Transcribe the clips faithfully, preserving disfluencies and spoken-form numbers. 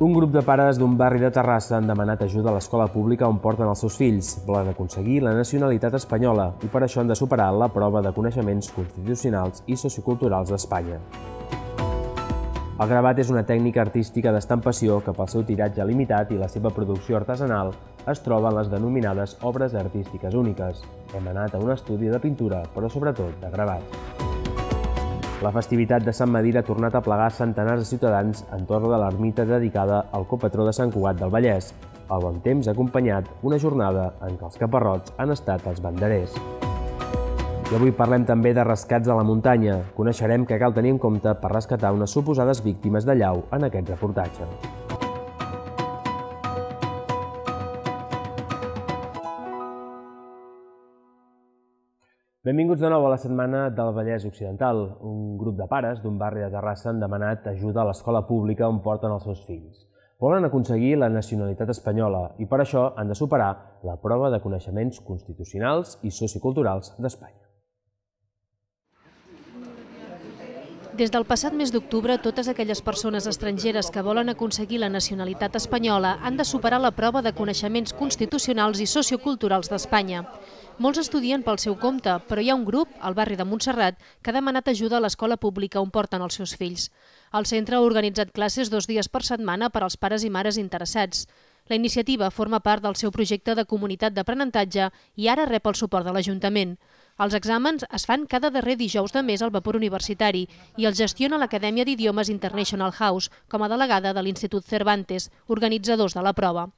Un grup de pares d'un barri de Terrassa han demanat ajuda a l'escola pública on porten els seus fills. Volen aconseguir la nacionalitat espanyola i per això han de superar la prova de coneixements constitucionals i socioculturals d'Espanya. El gravat és una tècnica artística d'estampació que pel seu tiratge limitat i la seva producció artesanal es troba en les denominades obres artístiques úniques. Hem anat a un estudi de pintura, però sobretot de gravat. La festivitat de Sant Medir ha tornat a plegar centenars de ciutadans entorn de l'ermita dedicada al copatró de Sant Cugat del Vallès. El bon temps ha acompanyat una jornada en què els caparrots han estat els banderers. I avui parlem també de rescats a la muntanya. Coneixerem què cal tenir en compte per rescatar unes suposades víctimes de llau en aquest reportatge. Benvinguts de nou a la setmana del Vallès Occidental. Un grup de pares d'un barri de Terrassa han demanat ajuda a l'escola pública on porten els seus fills. Volen aconseguir la nacionalitat espanyola i per això han de superar la prova de coneixements constitucionals i socioculturals d'Espanya. Des del passat mes d'octubre, totes aquelles persones estrangeres que volen aconseguir la nacionalitat espanyola han de superar la prova de coneixements constitucionals i socioculturals d'Espanya. Molts estudien pel seu compte, però hi ha un grup, al barri de Montserrat, que ha demanat ajuda a l'escola pública on porten els seus fills. El centre ha organitzat classes dos dies per setmana per als pares i mares interessats. La iniciativa forma part del seu projecte de comunitat d'aprenentatge i ara rep el suport de l'Ajuntament. Els exàmens es fan cada darrer dijous de mes al vapor universitari i els gestiona l'Acadèmia d'Idiomes International House com a delegada de l'Institut Cervantes, organitzadors de la prova.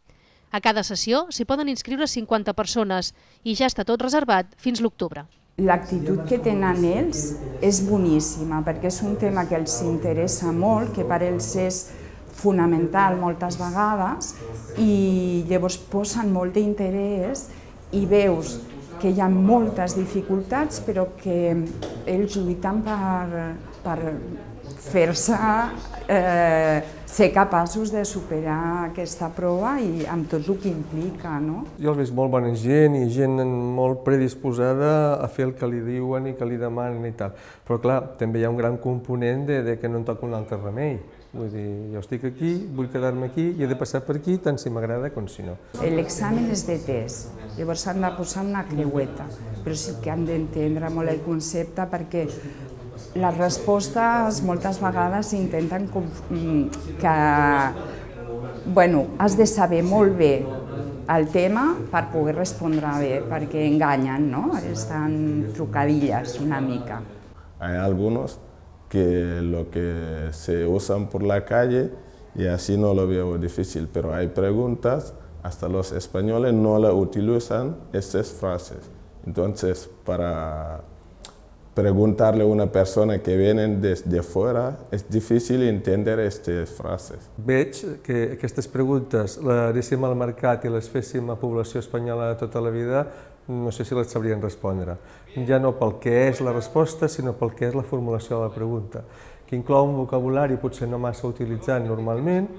A cada sessió s'hi poden inscriure cinquanta persones i ja està tot reservat fins l'octubre. L'actitud que tenen ells és boníssima perquè és un tema que els interessa molt, que per ells és fonamental moltes vegades i llavors posen molt d'interès i veus que hi ha moltes dificultats però que ells lluiten per, per fer-se eh, ser capaços de superar aquesta prova i amb tot el que implica, no? Jo els veig molt bona gent i gent molt predisposada a fer el que li diuen i que li demanen i tal. Però clar, també hi ha un gran component de, de que no em toca un altre remei. Vull dir, jo estic aquí, vull quedar-me aquí i he de passar per aquí tant si m'agrada com si no. L'examen és de test, llavors s'han de posar una creueta, però sí que han d'entendre molt el concepte perquè les respostes moltes vegades intenten que, bueno, has de saber molt bé el tema per poder respondre bé, perquè enganyen, no? Estan trucadillas una mica. Hay algunos que lo que se usan por la calle y así no lo veo difícil, pero hay preguntas, hasta los españoles no la utilizan estas frases. Entonces, para preguntarle a una persona que viene desde fuera, és difícil entendre aquestes frases. Veig que aquestes preguntes les anéssim al mercat i les féssim a població espanyola de tota la vida, no sé si les sabrien respondre. Ja no pel que és la resposta, sinó pel que és la formulació de la pregunta, que inclou un vocabulari potser no massa utilitzat normalment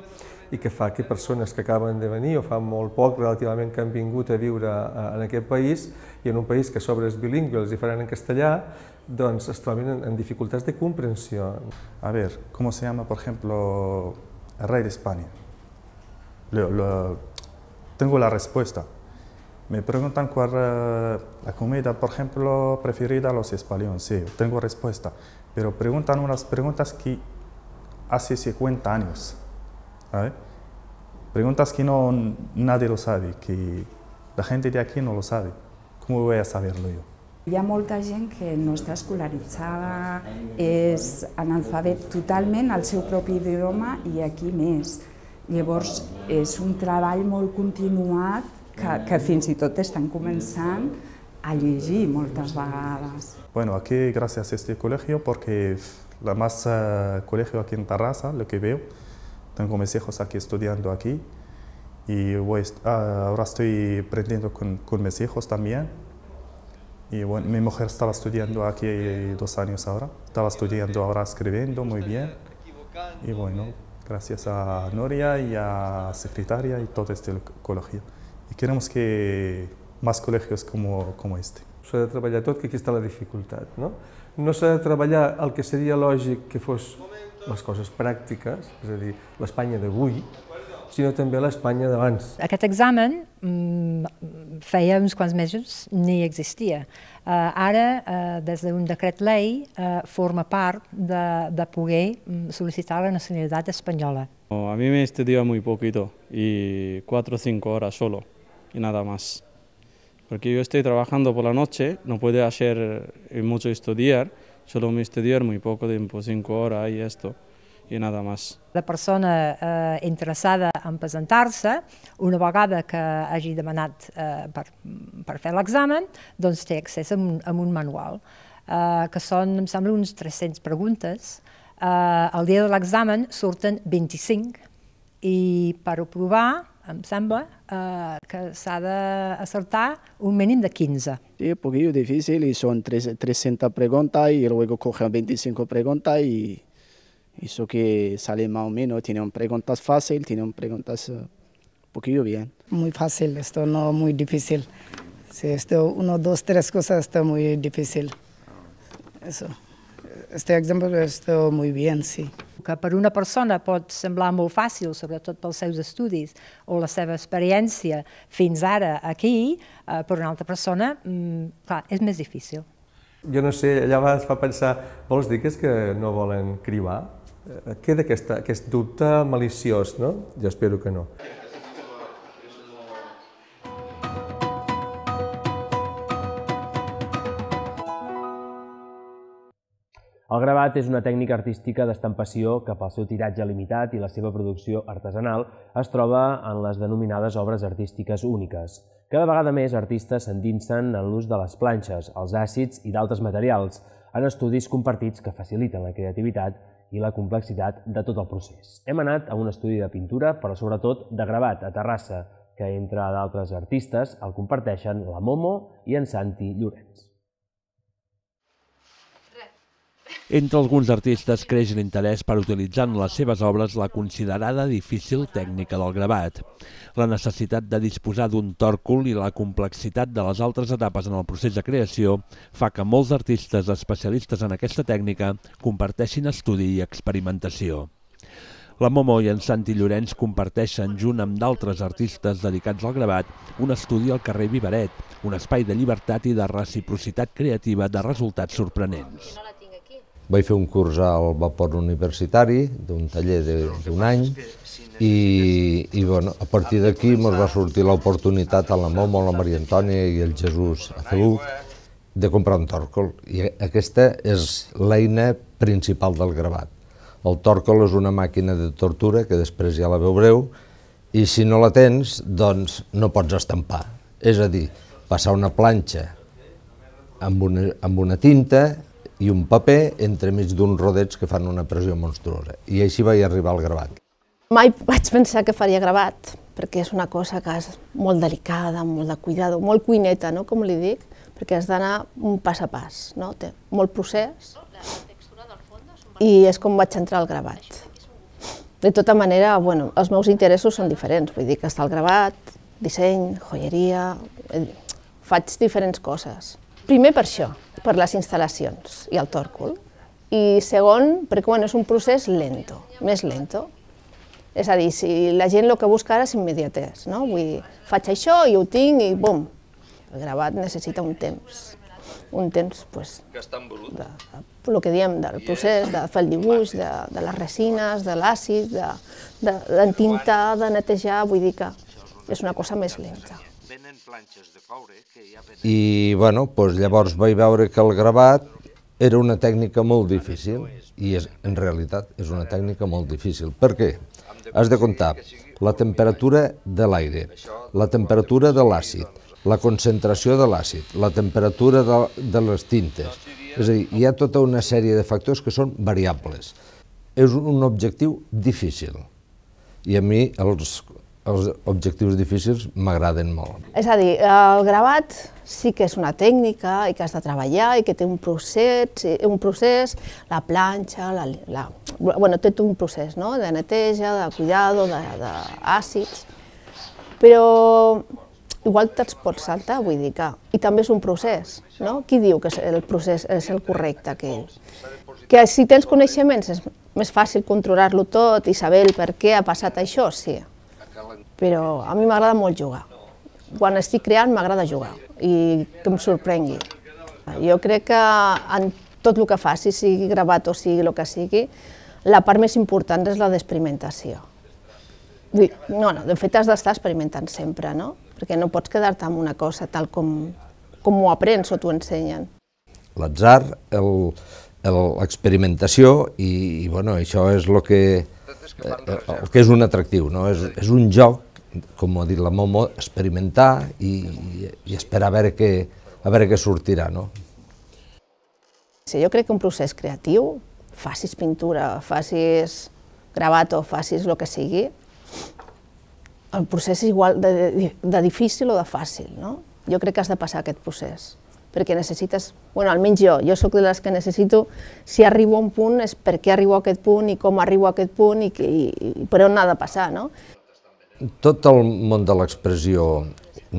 i que fa que persones que acaben de venir o fa molt poc relativament que han vingut a viure en aquest país i en un país que a sobre és bilingüe, els hi faran en castellà, doncs es troben en dificultats de comprensió. A ver, ¿cómo se llama, por ejemplo, el rey de España? Lo, lo, tengo la respuesta. Me preguntan cuál es la comida, por ejemplo, preferida a los españoles. Sí, tengo respuesta. Pero preguntan unas preguntas que hace cincuenta años. ¿Sabe? Preguntas que no, nadie lo sabe, que la gente de aquí no lo sabe. ¿Cómo voy a saberlo yo? Hi ha molta gent que no està escolaritzada, és analfabet totalment al seu propi idioma i aquí més. Llavors, és un treball molt continuat que, que fins i tot estan començant a llegir moltes vegades. Bueno, aquí gracias a este colegio, porque la más uh, colegio aquí en Terrassa, lo que veo, tengo mis hijos aquí estudiando aquí y voy, uh, ahora estoy aprendiendo con, con mis hijos también. Y bueno, mi mujer estaba estudiando aquí dos años ahora, estaba estudiando ahora escribiendo muy bien. Y bueno, gracias a Noria y a secretaria y todo este colegio. Y queremos que más colegios como, como este. S'ha de treballar tot, que aquí està la dificultat, no? No s'ha de treballar el que seria lògic que fos les coses pràctiques, és a dir, l'Espanya d'avui, sinó també l'Espanya d'abans. Aquest examen feia uns quants mesos ni existia. Ara, des d'un decret llei, forma part de poder sol·licitar la nacionalitat espanyola. A mí me estudia muy poquito, y cuatro o cinco horas solo, y nada más. Porque yo estoy trabajando por la noche, no puedo hacer mucho estudiar, solo me estudiar muy poco tiempo, cinco horas y esto, y nada más. La persona eh, interessada en presentar-se, una vegada que hagi demanat eh, per, per fer l'examen, doncs té accés a un, a un manual, eh, que són, em sembla, uns tres-centes preguntes. Eh, el dia de l'examen surten vint-i-cinc i per aprovar, em sembla, eh, que s'ha d'acertar un mínim de quinze. Sí, un poquillo difícil y son trescientas preguntas y luego cogen veinticinco preguntas y eso que sale más o menos, tienen preguntas fáciles, tienen preguntas uh, un poquillo bien. Muy fácil, esto no muy difícil. Sí, esto uno, dos, tres cosas está muy difícil. Eso. Este ejemplo está muy bien, sí. Que per una persona pot semblar molt fàcil, sobretot pels seus estudis o la seva experiència fins ara aquí, eh, per una altra persona, mm, clar, és més difícil. Jo no sé, allà es fa pensar, vols dir que és que no volen cribar? Queda aquesta, aquest dubte maliciós, no? Jo espero que no. El gravat és una tècnica artística d'estampació que pel seu tiratge limitat i la seva producció artesanal es troba en les denominades obres artístiques úniques. Cada vegada més artistes s'endinsen en l'ús de les planxes, els àcids i d'altres materials, en estudis compartits que faciliten la creativitat i la complexitat de tot el procés. Hem anat a un estudi de pintura, però sobretot de gravat, a Terrassa, que entre d'altres artistes el comparteixen la Momo i en Santi Llorenç. Entre alguns artistes creix l'interès per utilitzar en les seves obres la considerada difícil tècnica del gravat. La necessitat de disposar d'un tòrcol i la complexitat de les altres etapes en el procés de creació fa que molts artistes especialistes en aquesta tècnica comparteixin estudi i experimentació. La Momo i en Santi Llorenç comparteixen, junt amb d'altres artistes dedicats al gravat, un estudi al carrer Vivaret, un espai de llibertat i de reciprocitat creativa de resultats sorprenents. Vaig fer un curs al vapor universitari, d'un taller d'un any, i, i bueno, a partir d'aquí ens va sortir l'oportunitat a la Momo, a la Maria Antònia i el Jesús Azebuc de comprar un tòrcol. I aquesta és l'eina principal del gravat. El tòrcol és una màquina de tortura, que després ja la veureu, i si no la tens, doncs no pots estampar. És a dir, passar una planxa amb una, amb una tinta i un paper entremig d'uns rodets que fan una pressió monstruosa. I així vaig arribar al gravat. Mai vaig pensar que faria gravat, perquè és una cosa que és molt delicada, molt de cuidado, molt cuineta, no? Com li dic, perquè has d'anar un pas a pas, no? Té molt procés i és com vaig entrar al gravat. De tota manera, bueno, els meus interessos són diferents, vull dir que està el gravat, disseny, joieria, faig diferents coses. Primer per això, per les instal·lacions i el tòrcol. I segon, perquè bueno, és un procés lento, més lento. És a dir, si la gent el que busca ara és immediatès, no? Vull dir, faig això i ho tinc i bum! El gravat necessita un temps. Un temps, doncs, de, el que diem del procés, de fer el dibuix, de, de les resines, de l'àcid, d'entintar, de, de netejar, vull dir que és una cosa més lenta. I bueno, doncs llavors vaig veure que el gravat era una tècnica molt difícil, i és, en realitat és una tècnica molt difícil. Per què? Has de comptar la temperatura de l'aire, la temperatura de l'àcid, la concentració de l'àcid, la temperatura de, de les tintes. És a dir, hi ha tota una sèrie de factors que són variables. És un objectiu difícil, i a mi els, els objectius difícils m'agraden molt. És a dir, el gravat sí que és una tècnica i que has de treballar i que té un procés, un procés la planxa, la, la, bueno, té tot un procés, no? De neteja, de cuidado, d'àcids, però igual te'ls pots saltar, vull dir que... I també és un procés, no? Qui diu que el procés és el correcte aquell? Que si tens coneixements és més fàcil controlar-lo tot i saber el per què ha passat això, sí. però a mi m'agrada molt jugar. Quan estic creant m'agrada jugar i que em sorprengui. Jo crec que en tot el que faci, sigui gravat o sigui el que sigui, la part més important és la d'experimentació. No, no, de fet has d'estar experimentant sempre, no? Perquè no pots quedar-te amb una cosa tal com ho aprens o t'ho ensenyen. L'atzar, l'experimentació, i això és el que és un atractiu, és un joc, com ha dit la Momo, experimentar i esperar a veure què sortirà. Jo crec que un procés creatiu, facis pintura, facis gravat o facis el que sigui, el procés és igual de difícil o de fàcil, no? Jo crec que has de passar aquest procés, perquè necessites, bueno, almenys jo, jo soc de les que necessito, si arribo a un punt és per què arribo a aquest punt i com arribo a aquest punt i per on ha de passar, no? Tot el món de l'expressió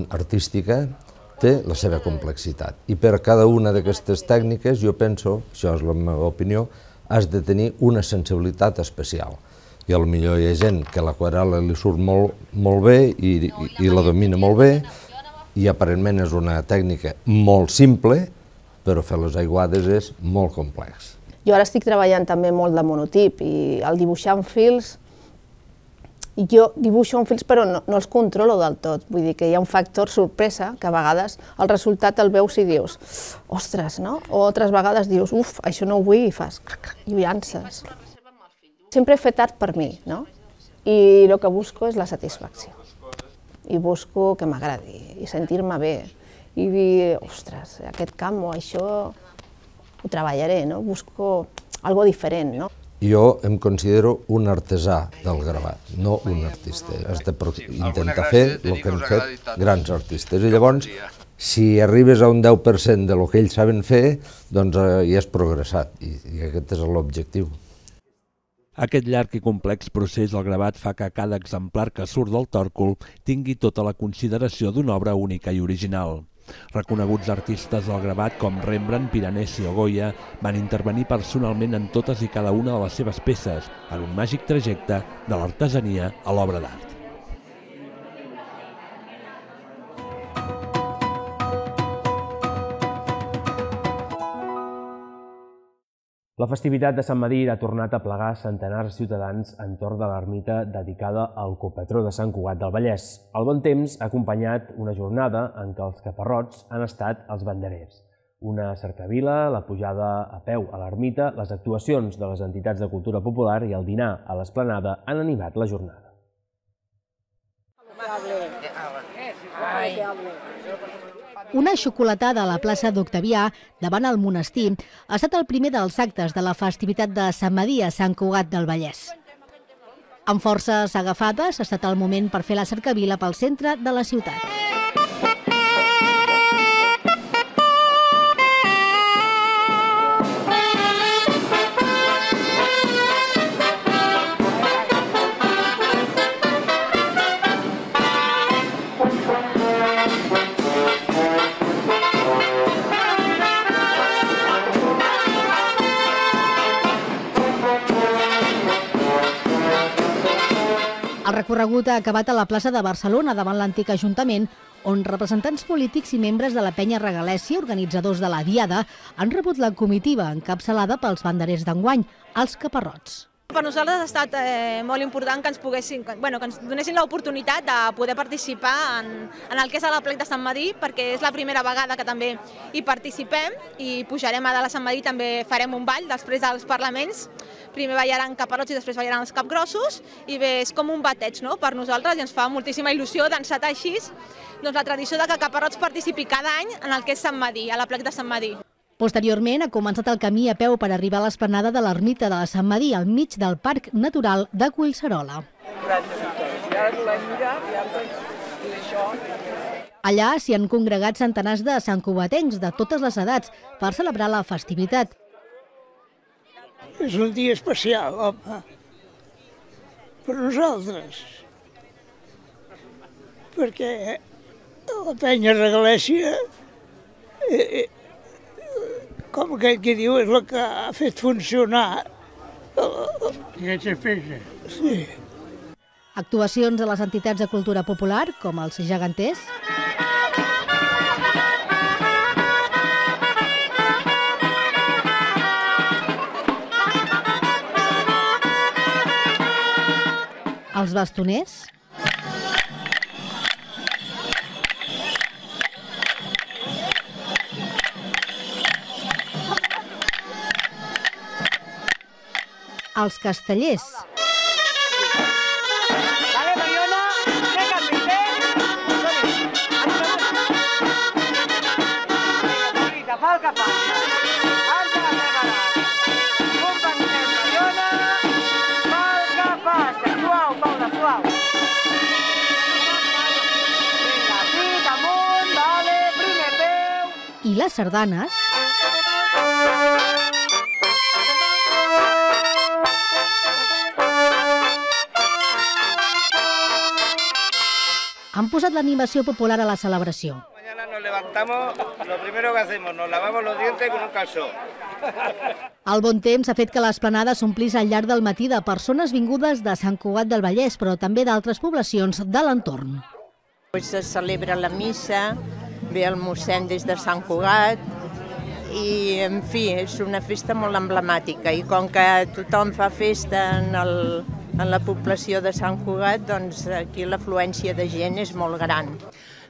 artística té la seva complexitat i per cada una d'aquestes tècniques jo penso, això és la meva opinió, has de tenir una sensibilitat especial. I potser hi ha gent que l'aquarel·la li surt molt bé i la domina molt bé i aparentment és una tècnica molt simple, però fer les aiguades és molt complex. Jo ara estic treballant també molt de monotip i al dibuixar amb fils, jo dibuixo amb fils però no els controlo del tot, vull dir que hi ha un factor sorpresa que a vegades el resultat el veus i dius, ostres, no? O altres vegades dius, uf, això no ho vull i fas lluances. Sempre he fet art per mi, no? I el que busco és la satisfacció. I busco que m'agradi i sentir-me bé i dir, ostres, aquest camp o això ho treballaré, no? Busco algo diferent, no? Jo em considero un artesà del gravat, no un artista. Has d'intentar fer el que han fet grans artistes. I llavors, si arribes a un deu per cent del que ells saben fer, doncs ja has progressat i aquest és l'objectiu. Aquest llarg i complex procés del gravat fa que cada exemplar que surt del tòrcul tingui tota la consideració d'una obra única i original. Reconeguts artistes del gravat com Rembrandt, Piranesi o Goya van intervenir personalment en totes i cada una de les seves peces, en un màgic trajecte de l'artesania a l'obra d'art. La festivitat de Sant Medir ha tornat a plegar centenars de ciutadans entorn de l'ermita dedicada al copatró de Sant Cugat del Vallès. El bon temps ha acompanyat una jornada en què els caparrots han estat els banderers. Una cercavila, la pujada a peu a l'ermita, les actuacions de les entitats de cultura popular i el dinar a l'esplanada han animat la jornada. Una xocolatada a la plaça d'Octavià, davant el monestir, ha estat el primer dels actes de la festivitat de Sant Medir a Sant Cugat del Vallès. Amb forces agafades, ha estat el moment per fer la cercavila pel centre de la ciutat. El recorregut ha acabat a la plaça de Barcelona, davant l'antic Ajuntament, on representants polítics i membres de la Penya Regalèssia, organitzadors de la Diada, han rebut la comitiva encapçalada pels banderers d'enguany, els caparrots. Per nosaltres ha estat eh, molt important que ens, poguessin, bueno, que ens donessin l'oportunitat de poder participar en, en el que és l'Aplec de Sant Medir, perquè és la primera vegada que també hi participem i pujarem a dalt a Sant Medir, també farem un ball després dels parlaments. Primer ballaran caparrots i després ballaran els capgrossos i bé, és com un bateig, no?, per nosaltres i ens fa moltíssima il·lusió d'encetar així doncs, la tradició de que Caparrots participi cada any en el que és Sant Medir, a l'Aplec de Sant Medir. Posteriorment ha començat el camí a peu per arribar a l'esplanada de l'ermita de Sant Medir, al mig del Parc Natural de Collserola. Allà s'hi han congregat centenars de santcugatencs de totes les edats per celebrar la festivitat. És un dia especial, home, per nosaltres, perquè la Penya Regalèssia, eh, com aquell que diu, és la que ha fet funcionar aquesta festa. Sí. Actuacions de les entitats de cultura popular, com els geganters, els bastoners, els castellers, i les sardanes, han posat l'animació popular a la celebració. Mañana nos levantamos, lo primero que hacemos, nos lavamos los dientes con un calzó. El bon temps ha fet que l'esplanada s'omplís al llarg del matí de persones vingudes de Sant Cugat del Vallès, però també d'altres poblacions de l'entorn. Se celebra la missa, ve el mossèn des de Sant Cugat i, en fi, és una festa molt emblemàtica i com que tothom fa festa en, el, en la població de Sant Cugat, doncs aquí l'afluència de gent és molt gran.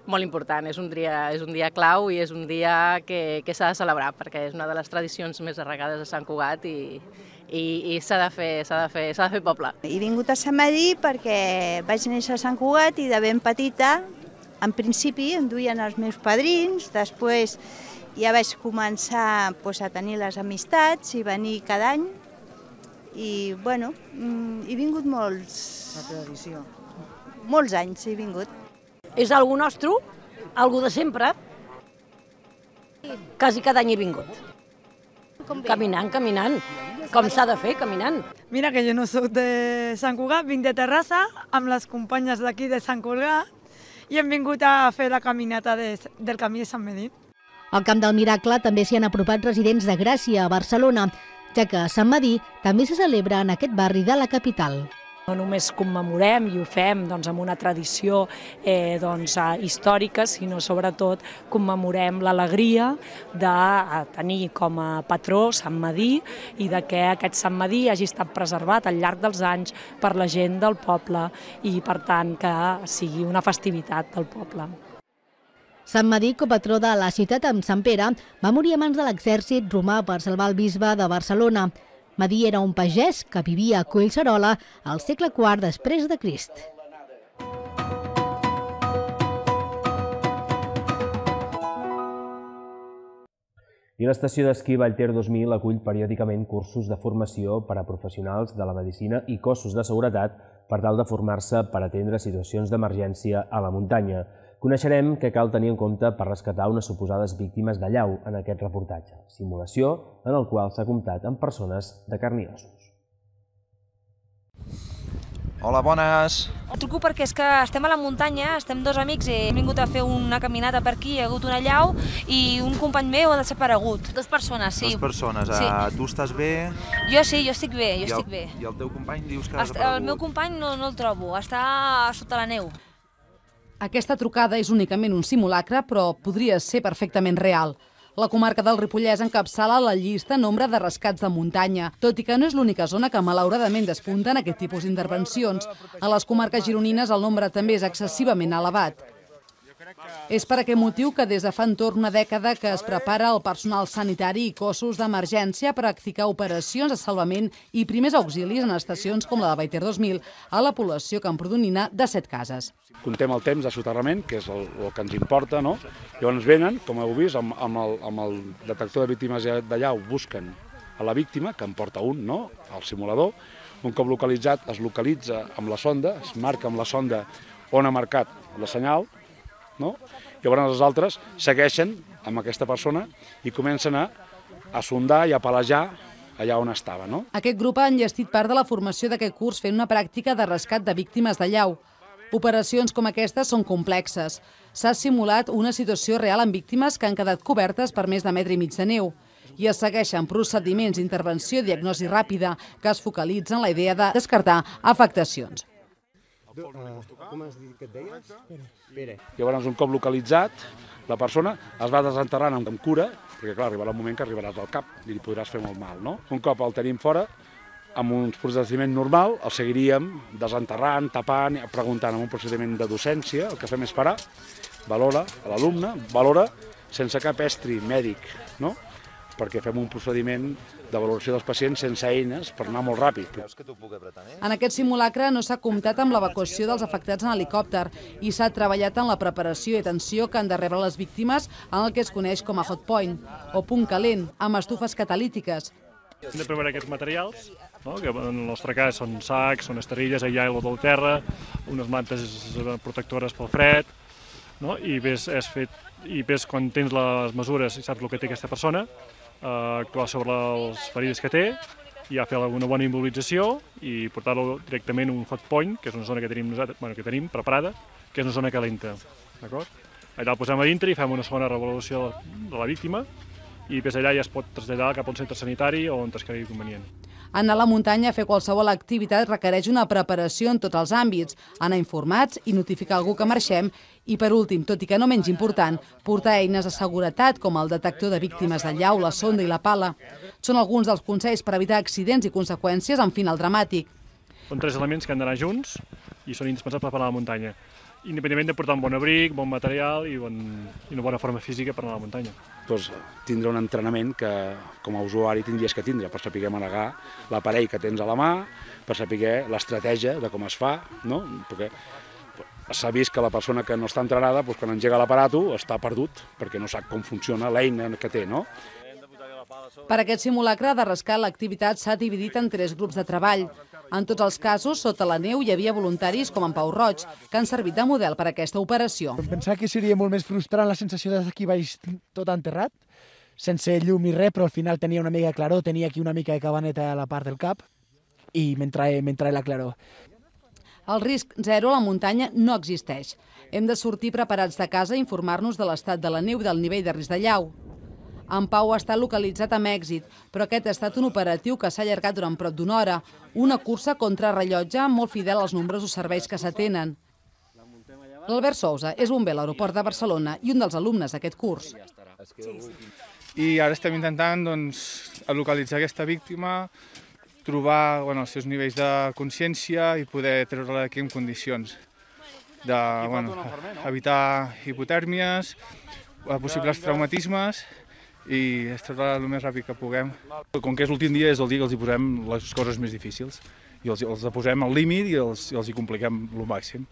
Molt important, és un dia, és un dia clau i és un dia que, que s'ha de celebrar perquè és una de les tradicions més arraigades de Sant Cugat i, i, i s'ha de fer, s'ha de fer, s'ha de fer poble. He vingut a Sant Medir perquè vaig néixer a Sant Cugat i de ben petita, en principi em duien els meus padrins, després ja vaig començar pues, a tenir les amistats i venir cada any i bueno, he vingut molts, la tradició. molts anys, he vingut. És algú nostre, algú de sempre. Quasi cada any he vingut. Caminant, caminant. Com s'ha de fer, caminant. Mira que jo no soc de Sant Cugat, vinc de Terrassa amb les companyes d'aquí de Sant Cugat i hem vingut a fer la caminata de, del camí de Sant Medir. Al Camp del Miracle també s'hi han apropat residents de Gràcia, a Barcelona, ja que a Sant Medir també se celebra en aquest barri de la capital. No només commemorem i ho fem doncs, amb una tradició eh, doncs, històrica, sinó sobretot commemorem l'alegria de tenir com a patró Sant Medir i de que aquest Sant Medir hagi estat preservat al llarg dels anys per la gent del poble i, per tant, que sigui una festivitat del poble. Sant Medir, copatró de la ciutat amb Sant Pere, va morir a mans de l'exèrcit romà per salvar el bisbe de Barcelona. Medir era un pagès que vivia a Collserola al segle quart després de Crist. I l'estació d'esquí Vallter dos mil acull periòdicament cursos de formació per a professionals de la medicina i cossos de seguretat per tal de formar-se per atendre situacions d'emergència a la muntanya. Coneixerem què cal tenir en compte per rescatar unes suposades víctimes de llau en aquest reportatge, simulació en el qual s'ha comptat amb persones de carn i ossos. Hola, bones! El truco perquè és que estem a la muntanya, estem dos amics i hem vingut a fer una caminata per aquí, hi ha hagut una allau i un company meu ha desaparegut. Dos persones, sí. Dos persones. Sí. Tu estàs bé? Jo sí, jo estic bé, jo I el, estic bé. I el teu company dius que ha desaparegut? El meu company no, no el trobo, està sota la neu. Aquesta trucada és únicament un simulacre, però podria ser perfectament real. La comarca del Ripollès encapçala la llista nombre de rescats de muntanya, tot i que no és l'única zona que malauradament despunta en aquest tipus d'intervencions. A les comarques gironines el nombre també és excessivament elevat. És per aquest motiu que des de fa entorn una dècada que es prepara el personal sanitari i cossos d'emergència a practicar operacions de salvament i primers auxilis en estacions com la de Vallter dos mil a la població camprodonina de Set Cases. Contem el temps de soterrament, que és el, el que ens importa, no? Llavors venen, com heu vist, amb, amb, el, amb el detector de víctimes de llau busquen a la víctima, que en porta un, no?, al simulador. Un cop localitzat, es localitza amb la sonda, es marca amb la sonda on ha marcat la senyal, no? Llavors els altres segueixen amb aquesta persona i comencen a, a sondar i a palejar allà on estava, no? Aquest grup ha enllestit part de la formació d'aquest curs fent una pràctica de rescat de víctimes de llau. Operacions com aquestes són complexes. S'ha simulat una situació real amb víctimes que han quedat cobertes per més de metre i mig de neu. I es segueixen procediments d'intervenció i diagnosi ràpida que es focalitzen en la idea de descartar afectacions. Com has dit que et deies? Pere. Llavors, un cop localitzat, la persona es va desenterrant amb cura, perquè clar, arribarà un moment que arribaràs al cap i li podràs fer molt mal, no? Un cop el tenim fora, amb un procediment normal, el seguiríem desenterrant, tapant, preguntant amb un procediment de docència, el que fem és parar, valora a l'alumne, valora sense cap estri mèdic, no? Perquè fem un procediment de valoració dels pacients sense eines per anar molt ràpid. En aquest simulacre no s'ha comptat amb l'evacuació dels afectats en helicòpter i s'ha treballat en la preparació i atenció que han de rebre les víctimes en el que es coneix com a hot point, o punt calent, amb estufes catalítiques. Hem de preparar aquests materials, que en el nostre cas són sacs, són esterilles, aigua del terra, unes mantes protectores pel fred, i ves quan tens les mesures i saps el que té aquesta persona, actuar sobre les ferides que té, i ja fer alguna bona immobilització i portar-lo directament a un hot point, que és una zona que tenim, que tenim preparada, que és una zona calenta. Allà el posem a dintre i fem una segona revaluació de la víctima i des d'allà ja es pot traslladar cap a un centre sanitari o on es cregui convenient. Anar a la muntanya a fer qualsevol activitat requereix una preparació en tots els àmbits, anar informats i notificar algú que marxem i, per últim, tot i que no menys important, portar eines de seguretat com el detector de víctimes de llau, la sonda i la pala. Són alguns dels consells per evitar accidents i conseqüències amb final dramàtic. Són tres elements que han d'anar junts i són indispensables per anar a la muntanya, independentment de portar un bon abric, bon material i una bona forma física per anar a la muntanya. Doncs tindre un entrenament que com a usuari tindries que tindre per saber manegar l'aparell que tens a la mà, per saber l'estratègia de com es fa, no? Perquè s'ha vist que la persona que no està entrenada, quan engega l'aparato, està perdut, perquè no sap com funciona l'eina que té, no? Per aquest simulacre de rescat, l'activitat s'ha dividit en tres grups de treball. En tots els casos, sota la neu hi havia voluntaris com en Pau Roig, que han servit de model per a aquesta operació. Pensava que seria molt més frustrant la sensació d'estar aquí baix tot enterrat, sense llum i res, però al final tenia una mica de claror, tenia aquí una mica de cabaneta a la part del cap i m'entrava la claror. El risc zero a la muntanya no existeix. Hem de sortir preparats de casa i informar-nos de l'estat de la neu i del nivell de risc de llau. En Pau ha estat localitzat amb èxit, però aquest ha estat un operatiu que s'ha allargat durant prop d'una hora, una cursa contra rellotge molt fidel als nombrosos serveis que s'atenen. L'Albert Sousa és bomber a l'aeroport de Barcelona i un dels alumnes d'aquest curs. I ara estem intentant localitzar aquesta víctima, trobar els seus nivells de consciència i poder treure-la d'aquí en condicions d'evitar hipotèrmies, possibles traumatismes i extreure-la el més ràpid que puguem. Com que és l'últim dia, és el dia que els hi posem les coses més difícils i els posem al límit i els hi compliquem el màxim.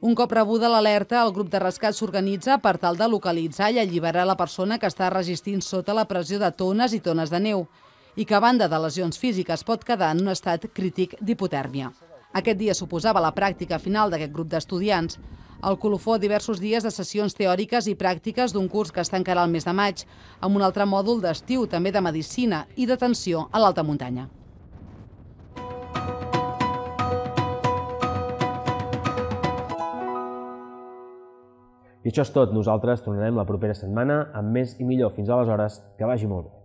Un cop rebuda l'alerta, el grup de rescat s'organitza per tal de localitzar i alliberar la persona que està resistint sota la pressió de tones i tones de neu i que, a banda de lesions físiques, pot quedar en un estat crític d'hipotèrmia. Aquest dia suposava la pràctica final d'aquest grup d'estudiants. El colofó diversos dies de sessions teòriques i pràctiques d'un curs que es tancarà el mes de maig, amb un altre mòdul d'estiu, també de medicina i d'atenció a l'alta muntanya. I això és tot. Nosaltres tornarem la propera setmana amb més i millor. Fins aleshores, que vagi molt bé.